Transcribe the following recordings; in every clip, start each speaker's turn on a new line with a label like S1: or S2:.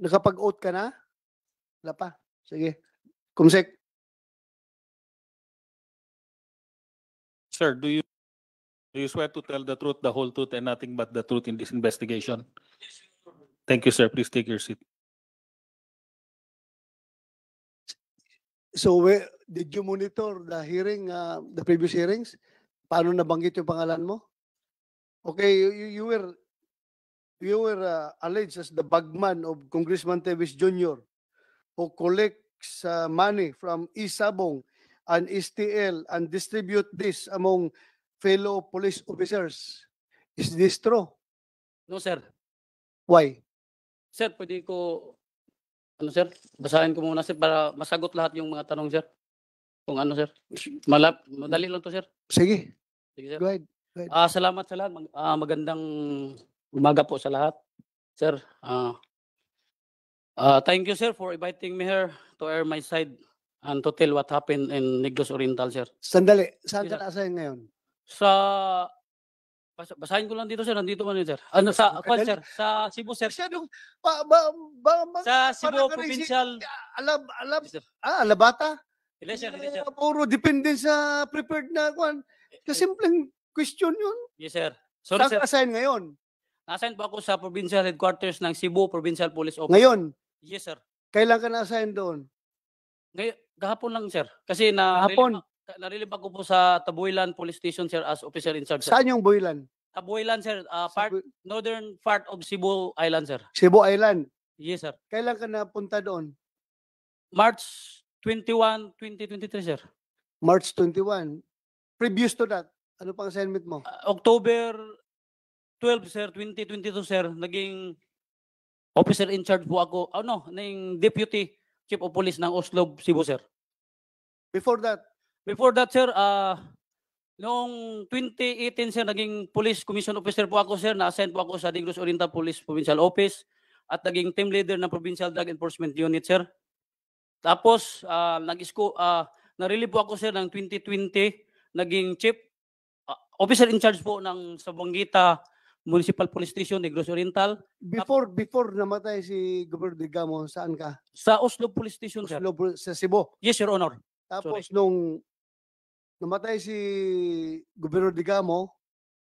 S1: Nakapag-oath ka na? Wala pa. Sige. Kumsek.
S2: Sir, do you swear to tell the truth, the whole truth, and nothing but the truth in this investigation? Thank you, sir. Please take your seat.
S1: So, did you monitor the hearing, the previous hearings? Paano nabanggit yung pangalan mo? Okay, you were alleged as the bagman of Congressman Teves Jr. who collects money from Isabong and STL and distribute this among fellow police officers. Is this true?
S3: No, sir.
S1: Why?
S3: Sir, pwede ko, sir, basahin ko muna, sir, para masagot lahat yung mga tanong, sir. Kung ano, sir. Madali lang to, sir.
S1: Sige.
S3: Sige, sir.
S1: Go ahead.
S3: Salamat sa lahat. Magandang umaga po sa lahat. Sir, thank you, sir, for inviting me here to air my side and to tell what happened in Negros Oriental, sir.
S1: Sandali. Saan
S3: Yes,
S1: ka naasahin ngayon?
S3: Basahin ko lang dito, sir. Nandito man yun, sir. Ano, sa Cebu, sir.
S1: Masyadong,
S3: Sa Cebu
S1: parang
S3: Provincial. Yes, sir.
S1: Alabata?
S3: Hindi, sir. Hindi, sir.
S1: Puro depende sa prepared na kwan. Kasimpleng question yun.
S3: Yes, sir. Sorry,
S1: Saan
S3: sir.
S1: ka assign ngayon?
S3: Nasaan po ako sa provincial headquarters ng Cebu Provincial Police Office.
S1: Ngayon?
S3: Yes, sir.
S1: Kailan ka na-assign doon?
S3: Gahapon lang, sir. Kasi narilib ako po sa Tabuilan Police Station, sir, as officer in charge. Sir.
S1: Saan yung Boylan?
S3: Tabuilan, sir. Northern part of Cebu Island, sir.
S1: Cebu Island?
S3: Yes, sir.
S1: Kailan ka napunta doon?
S3: March 21, 2023, sir.
S1: March 21. Previous to that, ano pang assignment mo?
S3: October 12, sir, 2022, sir. Naging officer in charge po ako. Naging deputy chief of police ng Oslo, Cebu, sir.
S1: Before that?
S3: Before that, sir, noong 2018, sir, naging police commission officer po ako, sir. Na-assign po ako sa Negros Oriental Police Provincial Office at naging team leader ng Provincial Drug Enforcement Unit, sir. Tapos, na-relieve po ako, sir, ng 2020, naging chief officer in charge po ng Sabuangita Municipal Police Station, Negros Oriental.
S1: Before namatay si Governor Digamo, saan ka?
S3: Sa Oslo Police Station, sir.
S1: Sa Cebu?
S3: Yes, Your Honor.
S1: Tapos nung namatay si Governor Digamo,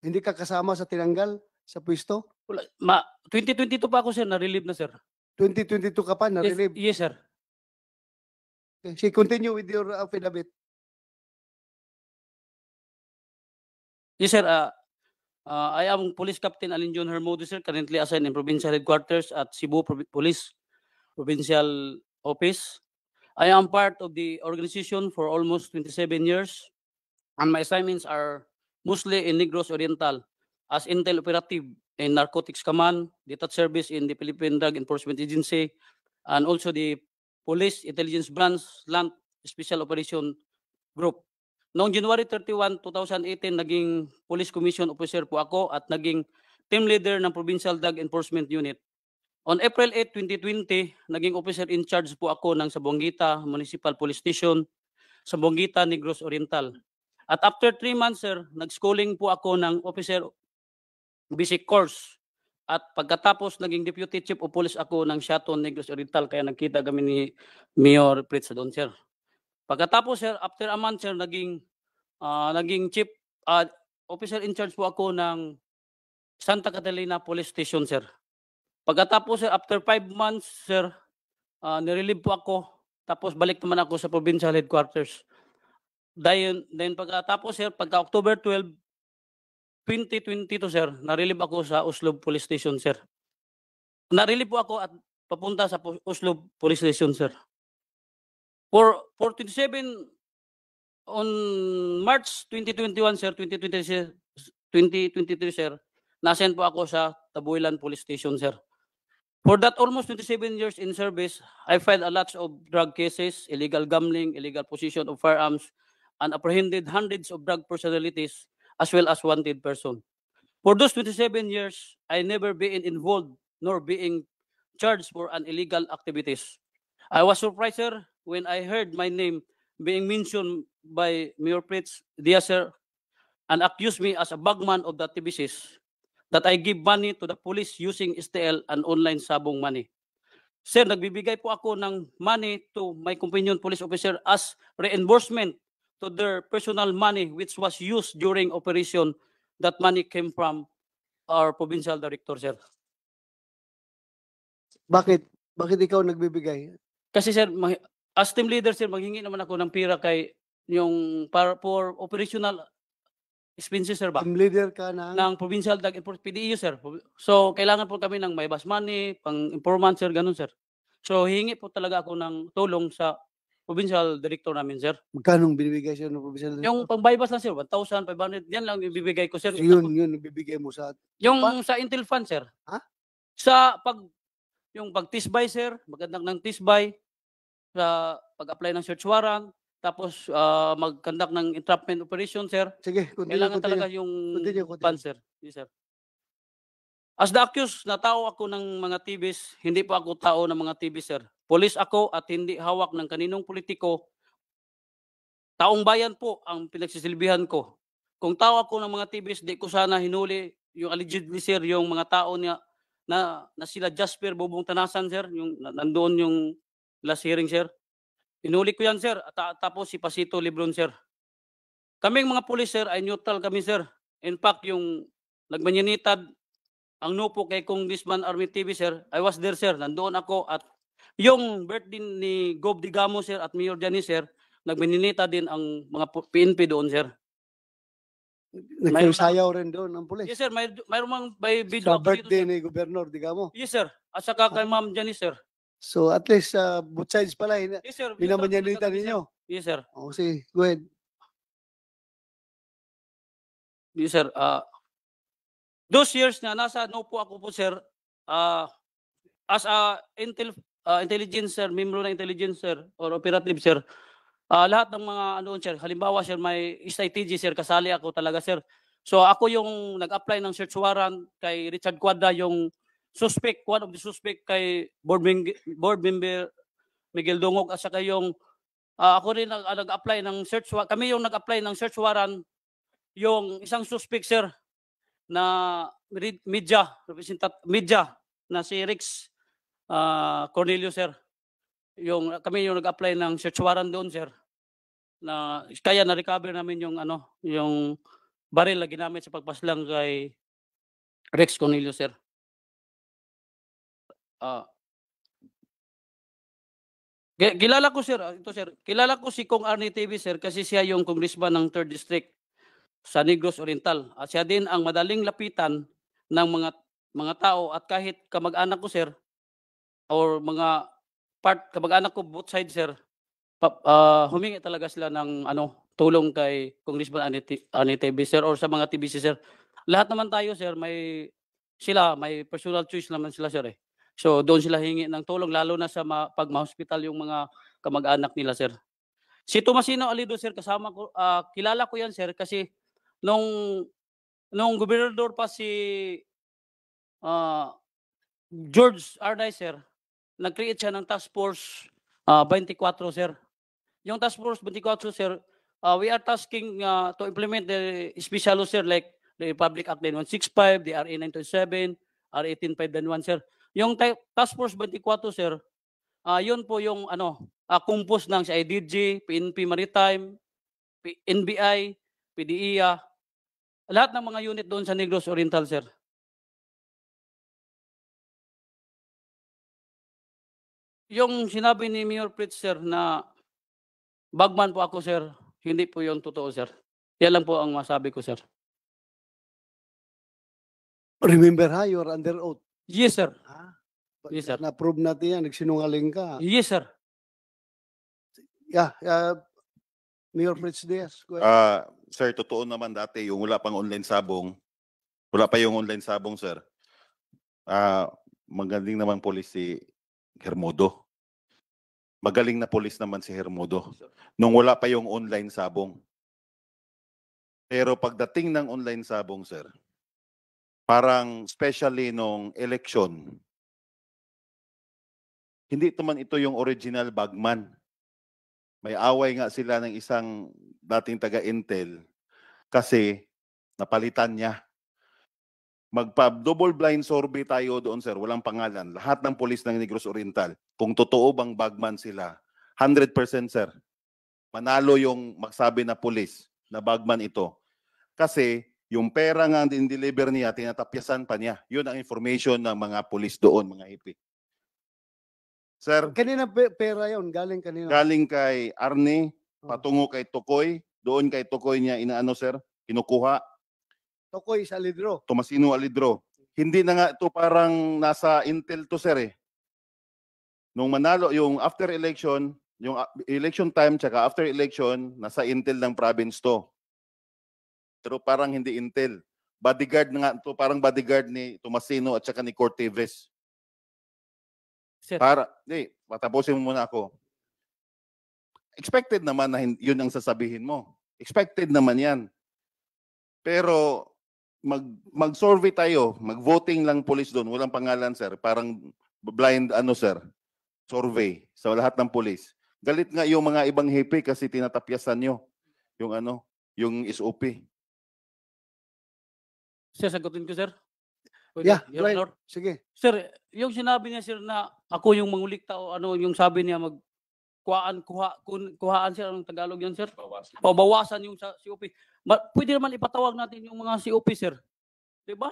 S1: hindi ka kasama sa tinanggal sa pwesto?
S3: 2022 pa ako, sir, na-relieve na, sir.
S1: 2022 ka pa, na-relieve?
S3: Yes, sir.
S1: Okay. Continue with your affidavit.
S3: Yes, sir. I am Police Captain Alin John Hermodo, sir, currently assigned in Provincial Headquarters at Cebu Police Provincial Office. I am part of the organization for almost 27 years, and my assignments are mostly in Negros Oriental as Intel Operative in Narcotics Command, Detached Service in the Philippine Drug Enforcement Agency, and also the Police Intelligence Branch Land Special Operation Group. Noong January 31, 2018, naging Police Commission Officer po ako at naging team leader ng Provincial Drug Enforcement Unit. On April 8, 2020, naging officer in charge po ako ng Sabuangita Municipal Police Station, Sabuangita, Negros Oriental. At after 3 months, sir, nag-schooling po ako ng officer basic course. At pagkatapos, naging Deputy Chief of Police ako ng Shaton, Negros Oriental, kaya nagkita kami ni Mayor Pritz doon, sir. Pagkatapos, sir, after a month, sir, naging chief officer in charge po ako ng Santa Catalina Police Station, sir. Pagkatapos, sir, after 5 months, sir, nirelieve po ako. Tapos balik naman ako sa provincial headquarters. Then pagkatapos, sir, pagka October 12, 2022, sir, narelieve ako sa Oslo Police Station, sir. Narelieve po ako at papunta sa Oslo Police Station, sir. For 27 on March 2021, sir, 2023, sir, nasend po ako sa Tabuilan Police Station, sir. For that almost 27 years in service, I filed a lot of drug cases, illegal gambling, illegal possession of firearms, and apprehended hundreds of drug personalities as well as wanted person. For those 27 years, I never been involved nor being charged for an illegal activities. I was surprised, sir, when I heard my name being mentioned by Mayor Pritz Diaz, sir, and accused me as a bagman of the TBCs, that I give money to the police using STL and online sabong money. Sir, nagbibigay po ako ng money to my companion police officer as reimbursement to their personal money which was used during operation. That money came from our provincial director, sir.
S1: Bakit? Bakit ikaw nagbibigay?
S3: Kasi sir, as team leader sir, maghingi naman ako ng pira kay yung for operational expenses sir ba?
S1: Team leader ka ng
S3: Ng provincial PDEU sir. So kailangan po kami ng may bus money, pang informant sir, ganun sir. So hingi po talaga ako ng tulong sa provincial director namin sir.
S1: magkano binibigay sa'yo ng provincial director?
S3: Yung pang bypass lang sir, 1,500, yan lang ibibigay ko sir.
S1: So, yun bibigay mo sa
S3: Yung
S1: pa-
S3: sa Intel Fund sir.
S1: Ha?
S3: Sa yung pag-tisbay sir, magandang ng tisbay, sa pag-apply ng search warrant, tapos mag-conduct ng entrapment operation sir.
S1: sige,
S3: Kailangan talaga yung
S1: Continue.
S3: fund sir. Yes sir. As the accused, natao ako ng mga TVs, hindi po ako tao ng mga TV sir. Police ako at hindi hawak ng kaninong politiko. Taong bayan po ang pinagsisilbihan ko. Kung tao ako ng mga TVs, di ko sana hinuli yung allegedly sir, yung mga tao niya na sila Jasper Bobong Tanasan sir, yung nandoon yung last hearing sir. Hinuli ko yan sir, at tapos si Pasito Lebron sir. Kaming mga pulis sir ay neutral kami sir. In fact, yung nagmanyanitad ang nupo kay Congressman Army TV sir, I was there sir, nandoon ako at yung birthday ni Gob Digamo sir at Mayor Janice sir, nagmaninita din ang mga PNP doon sir.
S1: Nagsayaw rin doon ang pulis.
S3: Yes sir, mayroon mang may video
S1: Sa
S3: ako dito,
S1: birthday
S3: sir.
S1: ni Gobernador, di ka mo.
S3: Yes sir, at saka kay Ma'am Janice sir.
S1: So at least both sides pala,
S3: Yes sir.
S1: binamanyanita ninyo.
S3: Yes sir.
S1: O sige, go ahead.
S3: Yes sir. Those years na nasa po ako po sir, as a intelligence sir, member ng intelligence sir or operative sir, lahat ng mga ano sir, halimbawa sir may strategy sir, kasali ako talaga sir. So ako yung nag-apply ng search warrant kay Richard Cuadra, yung suspect, one of the suspect kay board member Miguel Dungog, at saka yung ako rin nag-apply ng search warrant, kami yung nag-apply ng search warrant, yung isang suspect sir na media na si Rex Cornelio sir. Kami yung nag-apply ng search warrant doon sir. Na kaya na-recover namin yung yung baril na ginamit sa pagpaslang kay Rex Cornelio sir. Kilala ko sir, ito sir. Kilala ko si Kong Arnie TV sir kasi siya yung congressman ng 3rd District sa Negros Oriental. At siya din ang madaling lapitan ng mga tao, at kahit kamag-anak ko sir or mga kamag-anak ko both sides sir, humingi talaga sila ng tulong kay Congressman Arnie TV sir or sa mga TBC sir. Lahat naman tayo sir, may personal choice naman sila sir eh. So doon sila hingi ng tulong, lalo na sa pag ma-hospital yung mga kamag-anak nila sir. Si Tomasino Alido sir, kasama ko, kilala ko yan sir kasi nung gobernador pa si George Arnay sir, nag-create siya ng task force 24 sir. Yung task force 24 sir, we are tasking to implement the special law sir, like the Republic Act 9165, the RA 927, RA 18591 sir. Yung task force 24 sir, yun po yung compose ng CIDG, PNP Maritime, NBI, PDEA, lahat ng mga unit doon sa Negros Oriental sir. Yung sinabi ni Mayor Pritz sir na bagman po ako sir, hindi po yung totoo sir. Yan lang po ang masabi ko sir.
S1: Remember you are under oath.
S3: Yes sir.
S1: Yes,
S3: Yes, sir.
S1: Na-prove natin yan, nagsinungaling ka.
S3: Yes sir.
S1: Yeah, Mayor Fritz Diaz, go ahead.
S4: Sir, totoo naman dati yung wala pa yung online sabong sir. Magaling naman polis si Hermodo. Magaling na polis naman si Hermodo. Nung wala pa yung online sabong. Pero pagdating ng online sabong sir, parang especially nung election, hindi ito yung original bagman. May away nga sila ng isang dating taga-Intel kasi napalitan niya. Magpa-double blind survey tayo doon, sir. Walang pangalan. Lahat ng pulis ng Negros Oriental. Kung totoo bang bagman sila, 100%, sir. Manalo yung magsabi na pulis na bagman ito. Kasi yung pera nga din-deliver niya, tinatapyasan pa niya. Yun ang information ng mga pulis doon, mga hipi. Sir,
S1: Kanina pera yon, galing kanina.
S4: galing kay Arne, patungo kay Tukoy, doon kay Tukoy niya inaano, sir, kinukuha.
S1: Tokoy sa Lidro.
S4: Tomasino Alidro. Hindi na nga ito parang nasa Intel to, sir, eh. Nung manalo, yung after election, yung election time tsaka after election, nasa Intel ng province to. Pero parang hindi Intel. Bodyguard na nga ito, parang bodyguard ni Tomasino at saka ni Cortez.
S3: Sir,
S4: Patapusin mo muna ako. Expected naman na yun ang sasabihin mo. Expected naman yan. Pero mag-survey tayo, mag-voting lang police doon, walang pangalan, sir. Parang blind sir, survey sa lahat ng police. Galit nga yung mga ibang hepe kasi tinatapyasan nyo yung yung SOP.
S3: sir, sagutin ko, sir.
S1: Yeah,
S3: Your
S1: right.
S3: Honor.
S1: Sige.
S3: Sir, yung sinabi niya, sir, na ako yung mangulikta o yung sabi niya kuhaan, sir, anong Tagalog yan, sir? Bawasan yung sa COP. Pwede naman ipatawag natin yung mga COP, sir. Diba?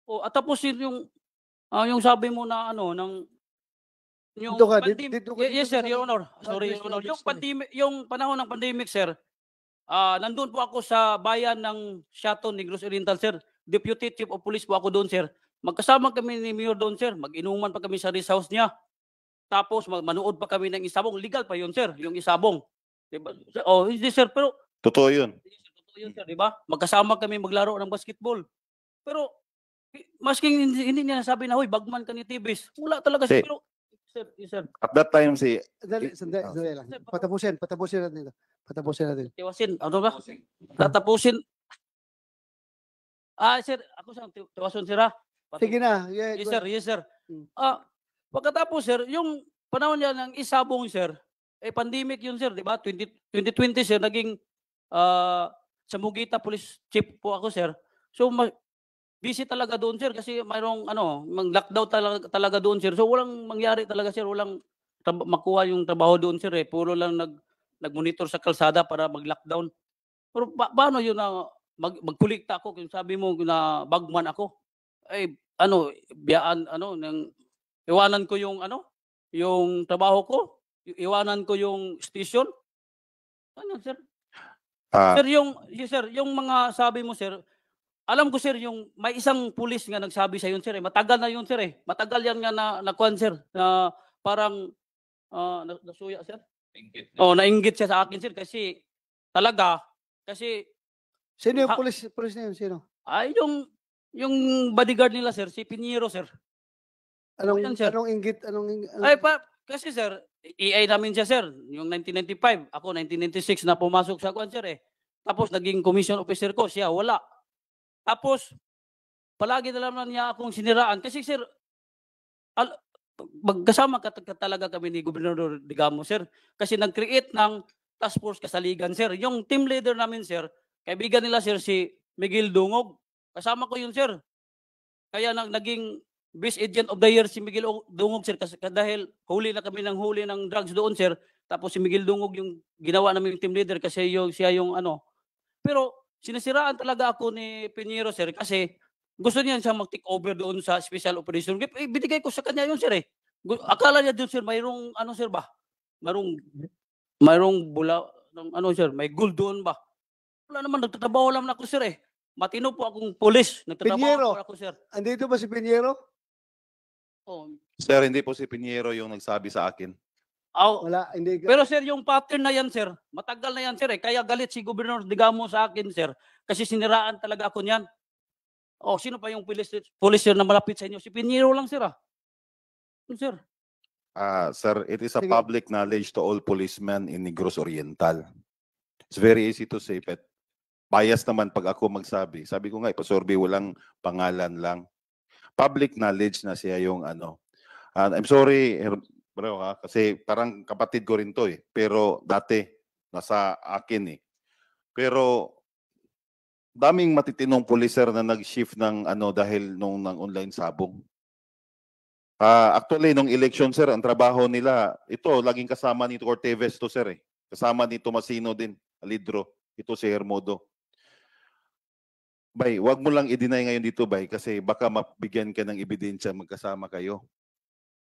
S3: O, at tapos yung sabi mo na yung
S1: Dito ka, dito ka,
S3: yes,
S1: dito
S3: sir,
S1: ka.
S3: Your Honor. Sorry,
S1: Yes,
S3: Your Honor.
S1: yes,
S3: Yung panahon ng pandemic, sir, nandun po ako sa bayan ng Shaton, Negros Oriental, sir. Deputy Chief of Police po ako doon, sir. Magkasama kami ni Mayor doon, sir. Mag-inuman pa kami sa rest house niya. Tapos manood pa kami ng isabong. Legal pa yun, sir, yung isabong. Diba? Oh, hindi, sir, pero
S4: Totoo yun.
S3: totoo yun, sir, diba? Magkasama kami maglaro ng basketball. Pero masking hindi niya nasabi na, hoy, bagman ka ni Tibis. Wala talaga, sir.
S4: Si-
S3: Pero, sir, yes, sir.
S4: At that time,
S1: Sandali lang. Patapusin natin ito. Patapusin natin.
S3: Tiwasin, ano ba? Tatapusin. Sir, ako sa tiwason, sir, ha?
S1: Sige na. Yeah,
S3: Yes,
S1: go
S3: sir.
S1: ahead.
S3: Yes, sir.
S1: Hmm.
S3: Pagkatapos, sir, yung panahon niya ng isabong, sir, pandemic yun, sir, di ba? 2020, sir, naging sa Mugita Police Chief po ako, sir. So, busy talaga doon, sir, kasi mayroong, mag-lockdown talaga doon, sir. So, walang mangyari talaga, sir. Walang makuha yung trabaho doon, sir, eh. Puro lang nag-monitor sa kalsada para mag-lockdown. Pero paano yun na magkulikta ako, kung sabi mo na bagman ako? Biyaan, iwanan ko yung yung trabaho ko, iwanan ko yung station. Sir? Sir, yung mga sabi mo, sir, alam ko, sir, yung may isang pulis nga nagsabi sa yun, sir, matagal na yun, sir, matagal yan nga na sir, na parang nasuya, sir. Nainggit siya sa akin, sir, kasi talaga, kasi
S1: Sino yung police na yun? Sino?
S3: yung bodyguard nila, sir, si Pinheiro, sir. Yan, sir.
S1: Anong inggit?
S3: Kasi, sir, EA namin siya, sir, yung 1995. Ako, 1996 na pumasok sa kuan, sir, Tapos, naging commission officer ko, siya, wala. Tapos, palagi na naman niya akong siniraan. Kasi, sir, magkasama talaga kami ni Gobernador Digamo, sir. Kasi nag-create ng task force kasaligan, sir. Yung team leader namin, sir, kaibigan nila, sir, si Miguel Dungog. Kasama ko yun, sir. Kaya naging Best Agent of the Year si Miguel Dungog, sir, kasi dahil huli na kami ng huli ng drugs doon, sir. Tapos si Miguel Dungog yung ginawa namin team leader kasi siya yung Pero sinisiraan talaga ako ni Pinheiro, sir, kasi gusto niya mag-take over doon sa special operation. Binigay ko sa kanya yun, sir, Akala niya doon, sir, mayroong sir ba? Mayroong bula, sir, may gold doon ba? Wala naman, nagtatrabaho lang ako, sir, Matino po akong pulis. Nagtatrabaho
S1: Pinheiro.
S3: po ako, sir.
S1: Andito ba si Pinheiro?
S4: Sir, hindi po si Pinheiro yung nagsabi sa akin.
S1: Wala, hindi.
S3: Pero, sir, yung pattern na yan, sir, matagal na yan, sir, Kaya galit si Gobernador Digamo sa akin, sir. Kasi siniraan talaga ako niyan. Sino pa yung pulis, sir, na malapit sa inyo? Si Pinheiro lang, sir, Sir.
S4: Sir, it is a
S1: Sige.
S4: public knowledge to all policemen in Negros Oriental. It's very easy to say, but bias naman pag ako magsabi. Sabi ko nga, ipasurvey, walang pangalan lang. Public knowledge na siya yung I'm sorry, bro, kasi parang kapatid ko rin to, Pero dati, nasa akin, Pero daming matitinong pulis, sir, na nag-shift ng ano dahil nung ng online sabong. Actually, nung election, sir, ang trabaho nila, ito, laging kasama ni Corteves to, sir, eh. Kasama ni Tomasino din, Alidro. Ito si Hermodo. Bay, wag mo lang i-deny ngayon dito, Bay, kasi baka mabigyan ka ng ebidensya magkasama kayo.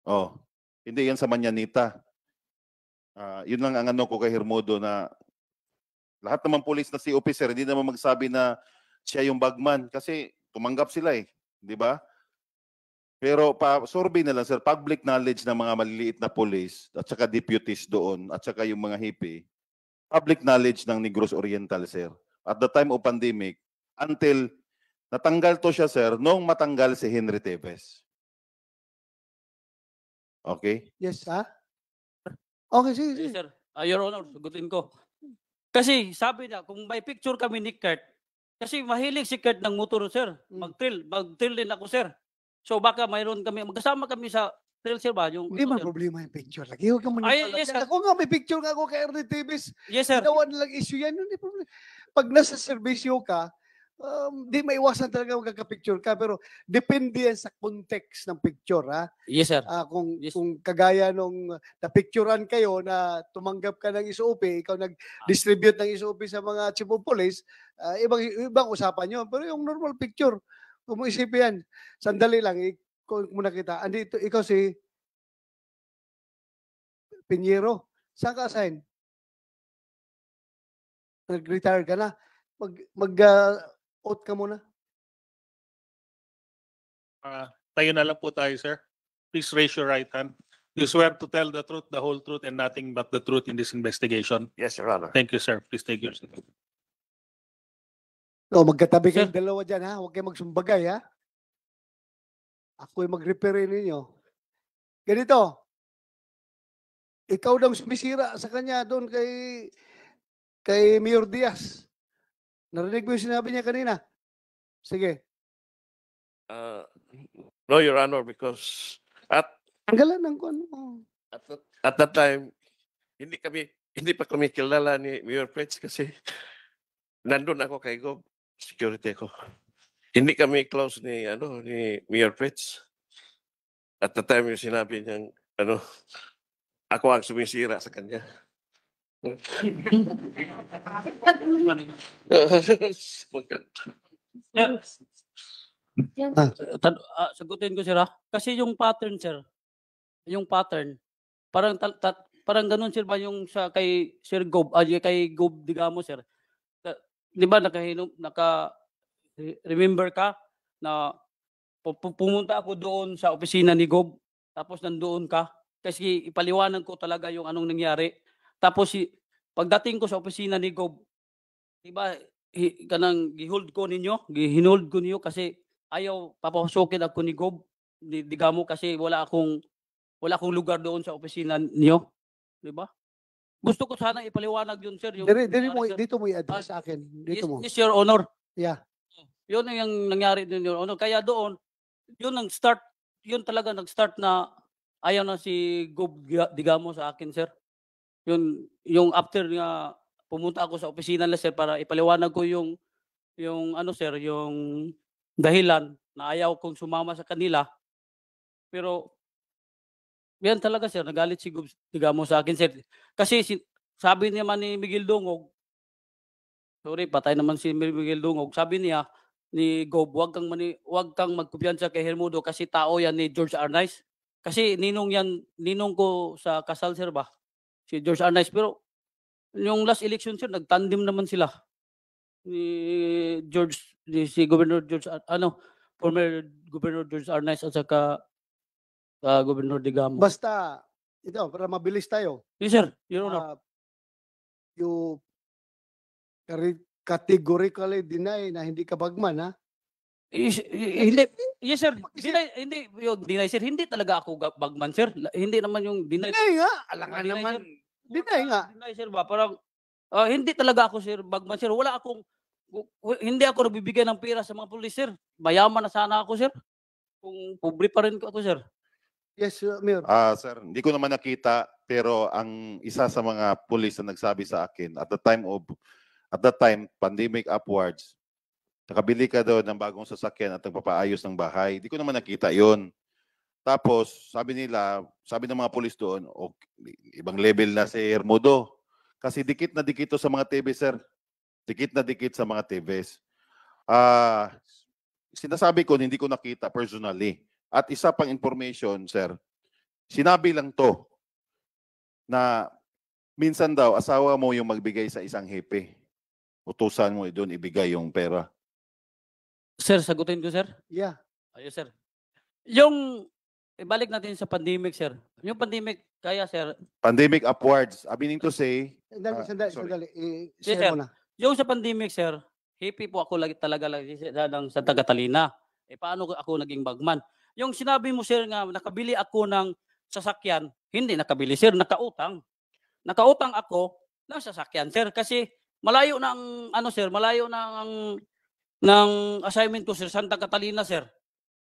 S4: Oh, hindi yan sa Manyanita. Yun lang ang ano ko kay Hermodo na lahat naman police na si officer, hindi naman magsabi na siya yung bagman kasi tumanggap sila eh, di ba? Pero survey na lang, sir, public knowledge ng mga maliliit na police at saka deputies doon at saka yung mga hipi, public knowledge ng Negros Oriental, sir. At the time of pandemic, until natanggal to siya, sir, nung matanggal si Henry Teves. Okay?
S1: Yes, ha? Okay, sige,
S3: Yes,
S1: sige.
S3: sir. Your Honor, sagutin ko. Kasi sabi niya, kung may picture kami ni Kurt, kasi mahilig si Kurt ng motor, sir. Mag-trail din ako, sir. So baka mayroon kami, magkasama kami sa trail, sir ba? Yung,
S1: Hindi man
S3: sir.
S1: problema yung picture. Lagi, huwag ka
S3: Ay,
S1: maniwala.
S3: yes, sir.
S1: Ako nga, may picture nga ako kay Ernie Davis.
S3: Yes, sir.
S1: Ginawa nilang issue yan. Hindi problema. Pag nasa servisyo ka, di maiwasan talaga magkaka-picture ka. Pero depende yan sa context ng picture, ha?
S3: Yes, sir.
S1: Kung,
S3: Yes.
S1: kung kagaya nung napicturean kayo na tumanggap ka ng SOP, ikaw nag-distribute ng SOP sa mga chief of police, ibang usapan yun. Pero yung normal picture, kung mo isipin yan, sandali lang, kung muna kita, andito, ikaw si Piñero, saan ka assign? Nag-retire ka na? Mag-out ka muna?
S2: Tayo na lang po tayo, sir. Please raise your right hand. You swear to tell the truth, the whole truth, and nothing but the truth in this investigation.
S5: Yes, Your Honor.
S2: Thank you, sir. Please take your seat.
S1: Magkatabi
S3: Sir.
S1: kayong dalawa dyan, ha? Huwag kayong magsumbagay, ha? Ako'y mag-repair ninyo. Ganito, ikaw daw sumisira sa kanya doon kay Mayor Diaz. Narinig mo yung sinabi niya kanina? Sige.
S5: No, Your Honor, because
S1: Tanggalan ng kung ano.
S5: at that time, hindi pa kami kilala ni Mayor Fritz kasi nandun ako kay Gob, security ko. Hindi kami close ni Mayor Fritz. At the time yung sinabi niyang ako ang sumisira sa kanya.
S3: Sagutin ko, sir, ha? Kasi yung pattern, sir, parang parang ganun, sir, ba yung sa kay Sir Gob, kay Gob Digamo, sir. Di ba remember ka na pumunta ako doon sa opisina ni Gob, tapos nandoon ka kasi ipaliwanag ko talaga yung anong nangyari. Tapos pagdating ko sa opisina ni Gob, di ba, kanang gihold ko ninyo kasi ayaw papasukin ako ni Gob Digamo kasi wala akong lugar doon sa opisina niyo, di ba? Gusto ko sana ipaliwanag yun, sir. Yung nangyari, sir.
S1: Dito mo i-address sa akin. Dito mo.
S3: Yes, Your Honor.
S1: Yeah.
S3: Yun ang nangyari din, Your Honor. Kaya doon, yun talaga nag-start na ayaw na si Gob Digamo sa akin, sir. Yung after nga pumunta ako sa opisina nila, sir, para ipaliwanag ko yung sir, yung dahilan na ayaw kong sumama sa kanila. Pero yan talaga, sir, nagalit si Gob Digamo sa akin, sir. Kasi sabi naman ni Miguel Dungog, sorry, patay naman si Miguel Dungog, sabi niya ni Gob, wag kang magkumpiyansa kay Hermodo kasi tao yan ni George Arnaiz. Kasi ninong ko sa kasal, sir, ba? Si George Arnaiz. Pero yung last election, sir, nagtandem naman sila. Si Governor George, former Governor George Arnaiz at saka Governor Digamo.
S1: Basta, ito, para mabilis tayo.
S3: Yes, sir. Your Honor.
S1: You categorically deny na hindi ka bagman, ha?
S3: Hindi. Yes, sir. Deny, sir. Hindi talaga ako bagman, sir. Hindi naman yung deny.
S1: Deny nga. Alangan
S3: Deny,
S1: naman.
S3: sir.
S1: Deny nga.
S3: Deny, sir, ba? Parang, hindi talaga ako, sir, bagman, sir. Hindi ako nagbibigay ng pera sa mga pulis, sir. Mayaman na sana ako, sir. Kung pobre pa rin ako, sir.
S1: Yes, Mayor.
S4: Sir, hindi ko naman nakita pero ang isa sa mga police na nagsabi sa akin at the time pandemic upwards, Nakabili ka daw ng bagong sasakyan at nagpapaayos ng bahay. Di ko naman nakita yon. Tapos, sabi ng mga pulis doon, okay, ibang level na si Hermodo. Kasi dikit na dikit to sa mga TV, sir. Dikit na dikit sa mga TVs. Sinasabi ko, hindi ko nakita personally. At isa pang information, sir, sinabi lang to na minsan daw, asawa mo yung magbigay sa isang hepe. Utusan mo doon ibigay yung pera.
S3: Sir, sagutin ko, sir.
S1: Yeah.
S3: Ayos, sir. Yung, ibalik natin sa pandemic, sir. Yung pandemic, kaya, sir,
S4: Pandemic upwards. Meaning to say,
S1: Sandali.
S4: sorry.
S1: Share
S3: Yes, sir.
S1: mo na.
S3: yung sa pandemic, sir, happy po ako talaga ng Santa Catalina. Paano ako naging bagman? Yung sinabi mo, sir, nga nakabili ako ng sasakyan, hindi nakabili, sir, nakautang. Nakautang ako ng sasakyan, sir, kasi malayo ng sir, malayo ng assignment ko, sir, Santa Catalina, sir.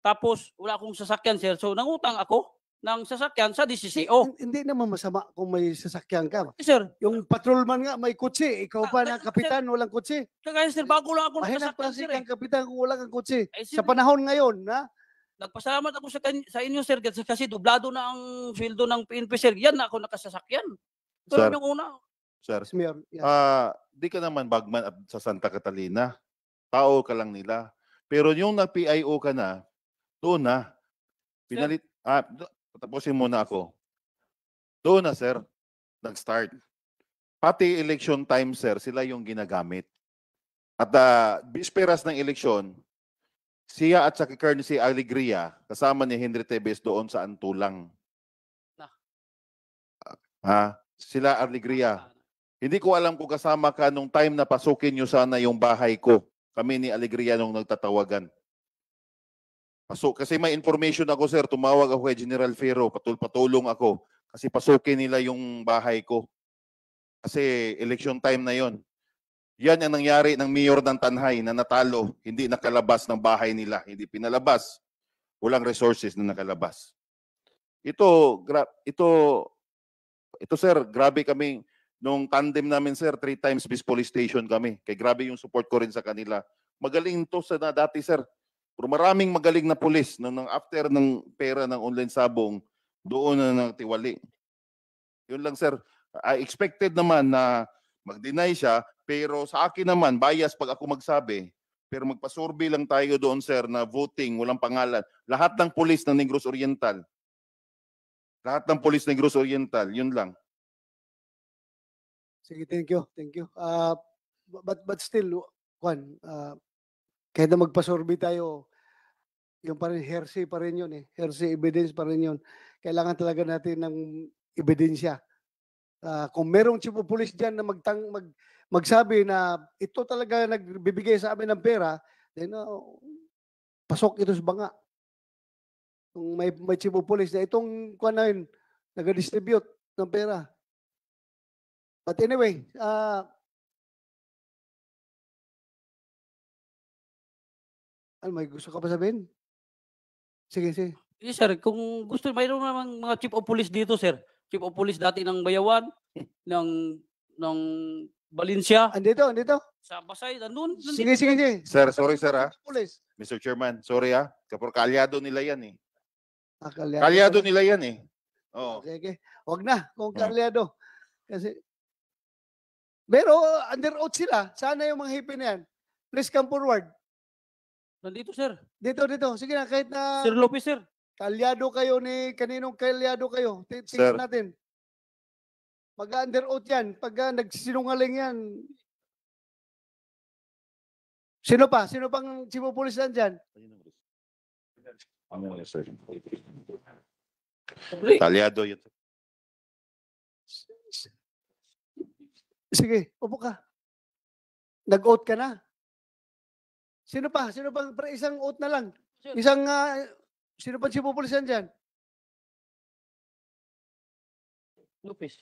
S3: Tapos wala akong sasakyan, sir. So nangutang ako ng sasakyan sa DCCO.
S1: Hindi naman masama kung may sasakyan ka.
S3: Sir,
S1: Yung patrolman nga may kutsi, ikaw pa na
S3: sir,
S1: kapitan, walang kutsi.
S3: kaya sir, bago lang ako
S1: Mahinang
S3: nagkasakyan, sir.
S1: klase kang kapitan kung wala kang kutsi.
S3: Sir,
S1: Sa panahon ngayon, na
S3: nagpasalamat ako sa inyo, sir, kasi dublado na ang sweldo ng PNP, sir. Yan na ako nakasasakyan. Pero
S4: Sir.
S3: yung una,
S4: Sir,
S1: Mayor, yeah.
S4: di ka naman bagman sa Santa Catalina. Tao ka lang nila. Pero yung na-PIO ka na, doon na. Pinalit, tapusin muna ako. Doon na, sir, nag-start. Pati election time, sir, sila yung ginagamit. At bisperas ng eleksyon, siya at sa Colonel si Alegria, kasama ni Henry Tebes doon sa Antulang. Sila Alegria. Hindi ko alam kung kasama ka nung time na pasukin nyo sana yung bahay ko. Kami ni Alegria nung nagtatawagan. Kasi may information ako, sir. Tumawag ako kay General Ferro. Patulong ako. Kasi pasukin nila yung bahay ko. Kasi election time na yon. Yan ang nangyari ng mayor ng Tanhay na natalo. Hindi nakalabas ng bahay nila. Hindi pinalabas. Walang resources na nakalabas. Ito, sir, grabe kami. Nung tandem namin, sir, 3 times bis police station kami. Kaya grabe yung support ko rin sa kanila. Magaling to sa dati, sir. Pero maraming magaling na pulis. Nung after ng pera ng online sabong, doon na natiwali. Yun lang, sir. I expected naman na mag-deny siya, pero sa akin naman, bias pag ako magsabi. Pero magpa-survey lang tayo doon, sir, na voting, walang pangalan. Lahat ng pulis ng Negros Oriental. Lahat ng pulis ng Negros Oriental, yun lang.
S1: Sige, thank you. But still, Juan, kahit na magpa-survey tayo, yung pa rin, hearsay pa rin yun eh. Hearsay evidence pa rin yun. Kailangan talaga natin ng ebidensya. Kung merong chief of police dyan na magsabi na ito talaga nagbibigay sa amin ng pera, then pasok ito sa banga. Kung may chief of police na itong kuwan na yun, nag-distribute ng pera. But anyway, may gusto ka pa sabihin? Sige.
S3: yes, sir, kung gusto, mayroon namang mga chief of police dito, sir. Chief of police dati ng Bayawan, ng Valencia,
S1: Andito.
S3: sa Pasay, nandun.
S1: Sige.
S4: Sir, sorry, sir,
S1: Police.
S4: Mr. Chairman, sorry Kapag kalyado nila yan eh.
S1: Kalyado
S4: Kalyado nila yan eh. Oo.
S1: Okay. Huwag na kung kalyado. Kasi pero under oath sila. Sana yung mga hippie na yan. Please come forward.
S3: Nandito, sir.
S1: Dito. Sige na, kahit na
S3: Sir Lopez, sir.
S1: kalyado kayo kaninong kalyado kayo.
S4: Sir.
S1: Tingnan natin. Mag-under oath yan. Pag nagsinungaling yan. Sino pang chief of police dyan?
S4: Kalyado yun.
S1: Sige, upo ka. Nag-oath ka na. Sino pang isang oath na lang? Isang, sino pang chief of police dyan?
S3: Lopez.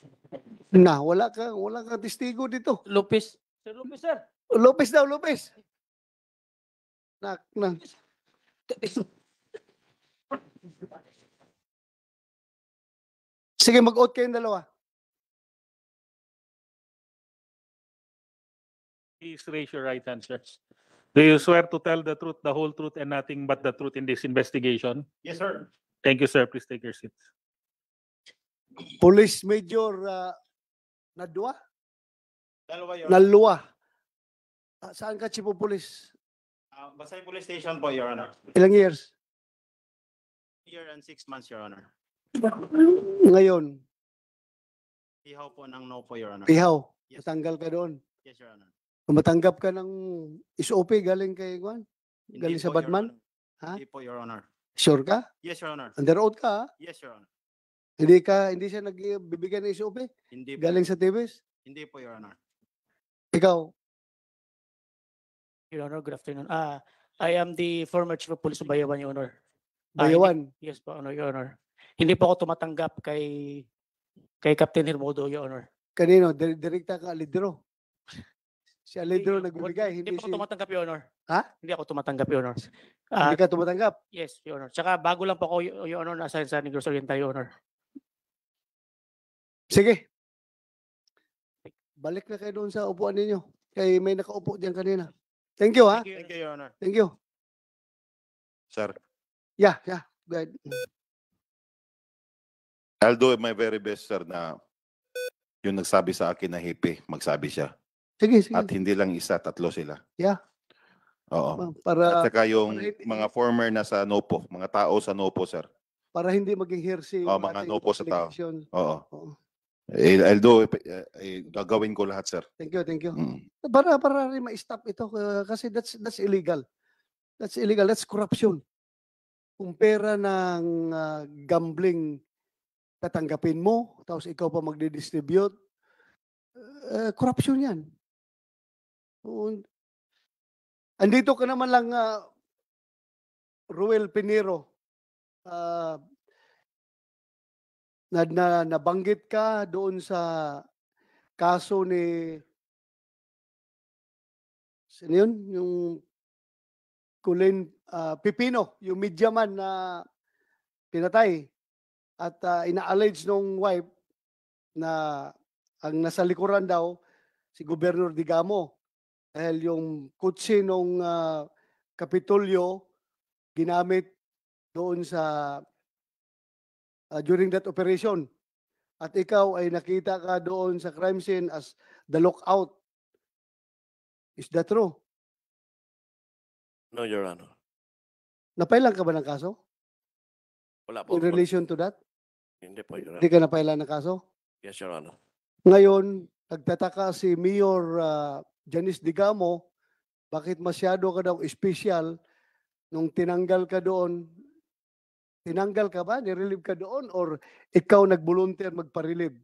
S1: Na, wala kang testigo dito.
S3: Lopez. Sir Lopez, sir.
S1: Lopez daw, Lopez. Na. Sige, mag-oath kayong dalawa.
S2: Please raise your right hand, sir. Do you swear to tell the truth, the whole truth, and nothing but the truth in this investigation?
S6: Yes, sir.
S2: Thank you, sir. Please take your seats.
S1: Police Major Nadua?
S6: Dalawa yun.
S1: Nalua. Saan ka, Chief of Police?
S6: Basta yung police station po, Your Honor.
S1: Ilang years?
S6: Year and 6 months, Your Honor.
S1: Ngayon,
S6: Ihaw po ng no po, Your Honor.
S1: pihaw.
S6: Yes.
S1: Matanggal ka doon.
S6: Yes, Your Honor.
S1: Matanggap ka ng SOP galing kay Juan?
S6: Hindi
S1: Galing sa
S6: po, Your
S1: Batman?
S6: Honor.
S1: Ha?
S6: Hindi po, Your Honor.
S1: Sure ka?
S6: Yes, Your Honor.
S1: Under oath ka, ha?
S6: Yes, Your Honor.
S1: Hindi siya nagbibigay ng SOP?
S6: Hindi po.
S1: Galing sa TVS?
S6: Hindi po, Your Honor.
S1: Ikaw?
S7: Your Honor, good afternoon. I am the former Chief of Police of Bayawan, Your Honor.
S1: Bayawan?
S7: Yes po, Your Honor. Hindi po ako tumatanggap kay Captain Hermodo, Your Honor.
S1: Kanino? Direkta ka, Alidro? Si Alidro nagbibigay,
S7: Hindi
S1: hindi
S7: po ako
S1: si...
S7: tumatanggap, Your Honor.
S1: Ha?
S7: Hindi ako tumatanggap, Your Honor.
S1: Hindi ka tumatanggap?
S7: Yes, Your Honor. Tsaka bago lang po ako, Your Honor, na-assign sa Negros Oriental, Your Honor.
S1: Sige. Balik na kayo doon sa upuan ninyo. Kay may nakaupo diyan kanina. Thank you, ha?
S6: Thank you, Your Honor.
S1: Thank you.
S4: Sir,
S1: Yeah. Go ahead.
S4: I'll do my very best, sir, na yung nagsabi sa akin na hippie, magsabi siya.
S1: Sige.
S4: At hindi lang isa, 3 sila.
S1: Yeah.
S4: Oo. At
S1: Para
S4: saka yung
S1: para-
S4: mga former na sa NOPO, mga tao sa NOPO, sir.
S1: hindi maging hearsay yung
S4: Mga
S1: ating
S4: nopo sa tao.
S1: allegation.
S4: Oo.
S1: Oo.
S4: I'll do, gagawin ko lahat, sir.
S1: Thank you.
S4: Mm.
S1: Para rin ma-stop ito kasi that's illegal. That's illegal. That's corruption. Kung pera ng gambling tatanggapin mo, tapos ikaw pa magdi-distribute, corruption yan. Andito ka naman lang, Ruel Pinero, nabanggit ka doon sa kaso ni sino yun? Yung Colin Pipino, yung media man na pinatay at ina-allege nung wife na ang nasa likuran daw si Gobernador Digamo dahil yung kutsi nung Kapitolyo ginamit doon sa during that operation. At ikaw ay nakita ka doon sa crime scene as the lookout. Is that true?
S5: No, Your Honor.
S1: Napailan ka ba ng kaso?
S5: Wala po.
S1: In relation to that?
S5: Hindi po, Your
S1: Hindi
S5: Honor.
S1: ka napailan ng kaso?
S5: Yes, Your Honor.
S1: Ngayon, nagtataka si Mayor Janice Digamo, bakit masyado ka daw special nung tinanggal ka doon? Tinanggal ka ba? Nirelieve ka doon? Or ikaw nag-volunteer magpa-relieve?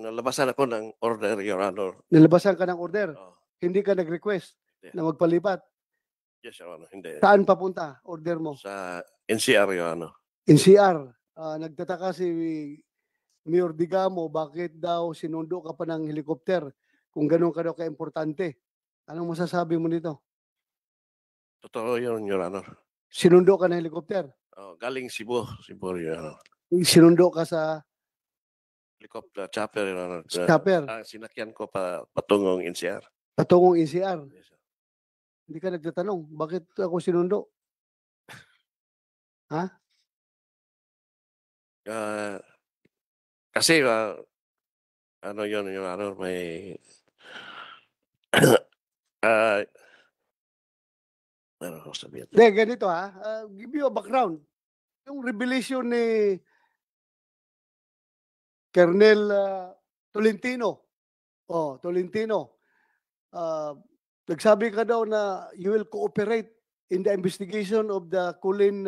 S5: Nalabasan ako ng order, Your Honor.
S1: Nilabasan ka ng order?
S5: Oh,
S1: Hindi ka nag-request
S5: Hindi.
S1: na magpalipat?
S5: yes, Your Honor. Hindi.
S1: Saan papunta? Order mo?
S5: Sa NCR, Your Honor.
S1: NCR. Nagtataka si Mayor Digamo, bakit daw sinundo ka pa ng helicopter kung ganun ka daw ka-importante? Anong masasabi mo nito?
S5: Totoo yun, Your Honor.
S1: Sinundo ka ng helicopter?
S5: Galing Cebu, Your Honor.
S1: Sinundo ka sa
S5: Helicopter, chopper, Your Honor.
S1: chopper,
S5: Sinakyan ko patungong NCR.
S1: patungong NCR.
S5: Yes, sir.
S1: Hindi ka nagtatanong, bakit ako sinundo?
S5: Kasi, ano yun, Your Honor, may... ano ko sabihin?
S1: Hindi, ganito give you a background. Yung revelation ni Colonel Tolentino. Tolentino. Nagsabi ka daw na you will cooperate in the investigation of the Colin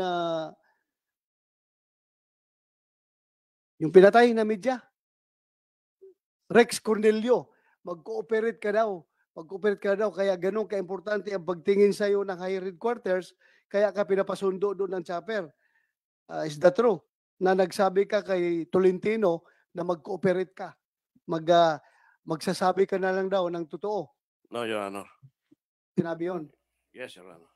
S1: yung pinatay na media. Rex Cornelio. Mag-cooperate ka daw. Mag-cooperate ka daw. Kaya ganun ka-importante ang pagtingin sa'yo ng higher headquarters. Kaya ka pinapasundo doon ng chopper. Is that true? Na nagsabi ka kay Tolentino na mag-cooperate ka. Magsasabi ka na lang daw ng totoo.
S5: No, Your Honor.
S1: Sinabi yun.
S5: Yes, Your Honor.